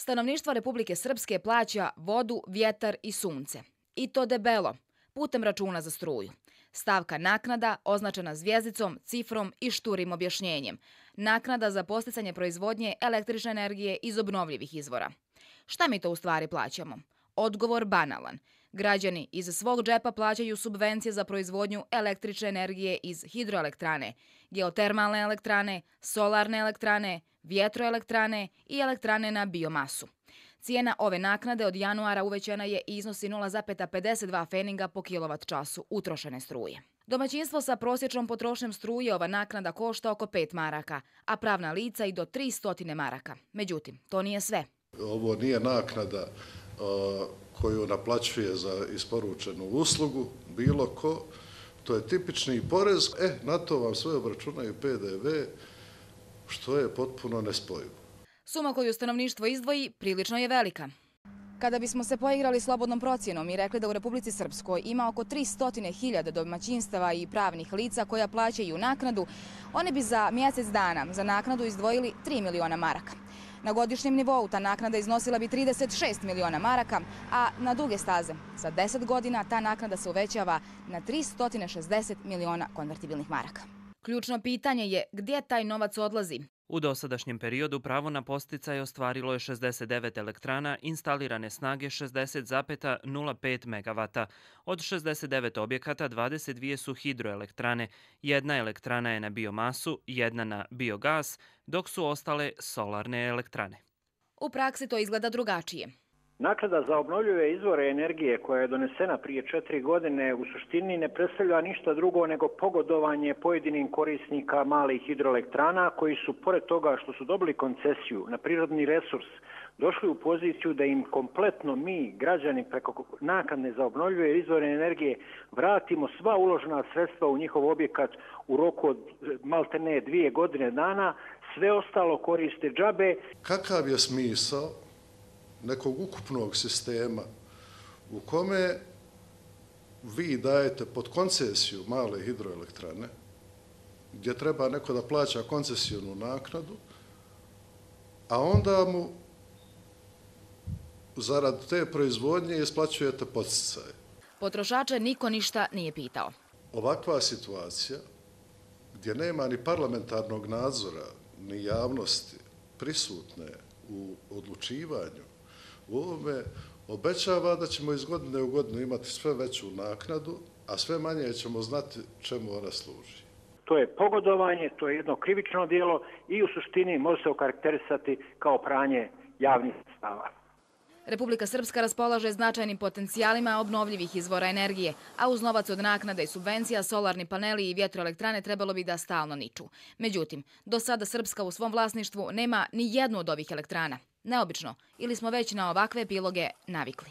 Stanovništvo Republike Srpske plaća vodu, vjetar i sunce. I to debelo, putem računa za struju. Stavka naknada označena zvijezdicom, cifrom i šturim objašnjenjem. Naknada za podsticanje proizvodnje električne energije iz obnovljivih izvora. Šta mi to u stvari plaćamo? Odgovor banalan. Građani iz svog džepa plaćaju subvencije za proizvodnju električne energije iz hidroelektrane, geotermalne elektrane, solarne elektrane, vjetroelektrane i elektrane na biomasu. Cijena ove naknade od januara uvećana je i iznosi 0,52 feninga po kilovat-času utrošene struje. Domaćinstvo sa prosječnom potrošnjom struje ova naknada košta oko 5 maraka, a pravna lica i do 300 maraka. Međutim, to nije sve. Ovo nije naknada koju naplaćuje za isporučenu uslugu bilo ko. To je tipični porez. Na to vam sve obračunaju PDV, što je potpuno nespojivo. Suma koju stanovništvo izdvoji prilično je velika. Kada bismo se poigrali slobodnom procjenom i rekli da u Republici Srpskoj ima oko 300.000 domaćinstava i pravnih lica koja plaćaju naknadu, oni bi za mjesec dana za naknadu izdvojili 3 miliona maraka. Na godišnjem nivou ta naknada iznosila bi 36 miliona maraka, a na duge staze za 10 godina ta naknada se uvećava na 360 miliona konvertibilnih maraka. Ključno pitanje je gdje taj novac odlazi. U dosadašnjem periodu pravo na podsticaj ostvarilo je 69 elektrana instalirane snage 60,05 MW. Od 69 objekata 22 su hidroelektrane, jedna elektrana je na biomasu, jedna na biogas, dok su ostale solarne elektrane. U praksi to izgleda drugačije. Naknada za obnovljive izvore energije koja je donesena prije 4 godine u suštini ne predstavlja ništa drugo nego pogodovanje pojedinim korisnika malih hidroelektrana koji su, pored toga što su dobili koncesiju na prirodni resurs, došli u poziciju da im kompletno mi, građani, preko naknade za obnovljive izvore energije vratimo sva uložena sredstva u njihov objekat u roku od maltene 2 godine dana, sve ostalo koriste džabe. Kakav je smisao nekog ukupnog sistema u kome vi dajete pod koncesiju male hidroelektrane, gdje treba neko da plaća koncesijonu naknadu, a onda mu zarad te proizvodnje isplaćujete podsticaje. Potrošače niko ništa nije pitao. Ovakva situacija, gdje nema ni parlamentarnog nadzora, ni javnosti prisutne u odlučivanju, u ovome obećava da ćemo iz godine u godinu imati sve veću naknadu, a sve manje ćemo znati čemu ona služi. To je pogodovanje, to je jedno krivično djelo i u suštini može se okarakterisati kao pranje javnih sredstava. Republika Srpska raspolaže značajnim potencijalima obnovljivih izvora energije, a uz novac od naknada i subvencija solarni paneli i vjetroelektrane trebalo bi da stalno niču. Međutim, do sada Srpska u svom vlasništvu nema ni jednu od ovih elektrana. Neobično, ili smo već na ovakve epiloge navikli.